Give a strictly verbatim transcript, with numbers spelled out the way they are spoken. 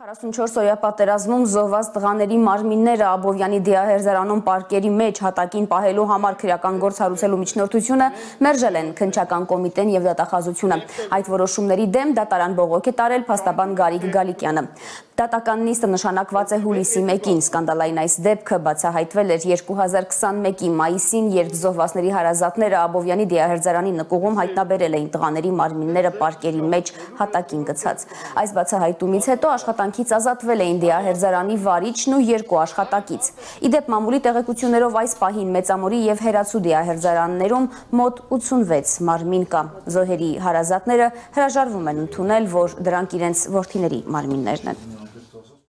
քառասունչորս օրյա պատերազմում զոհված տղաների մարմինները Աբովյանի դիահերձարանում պարկերի մեջ հատակին պահելու համար քրեական գործ հարուցելու միջնորդությունը մերժել են քննչական կոմիտեն եւ դատախազությունը։ Այդ որոշումների դեմ դատարան բողոք է տարել փաստաբան Գարիկ Գալիկյանը։ Դատական նիստը նշանակված է հուլիսի մեկին։ Սկանդալային այս դեպքը բացահայտվել էր երկու հազար քսանմեկի մայիսին, երբ զոհվածների հարազատները Աբովյանի դիահերձարանի նկուղում հայտնաբերել էին տղաների մարմինները պարկերի մեջ հատակին գցած։ Այս բացահայտումից հետո աշխատանքից ազատվել էին դիահերձարանի վարիչն ու երկու աշխատակից։ Իդեպ մամուլի տեղեկություններով այս պահին Մեծամորի եւ Հերացու դիահերձարաններում մոտ ութսունվեց մարմին կա։ Զոհերի հարազատները հրաժարվում են ընդունել, որ դրանք իրենց որդիների մարմիններն են։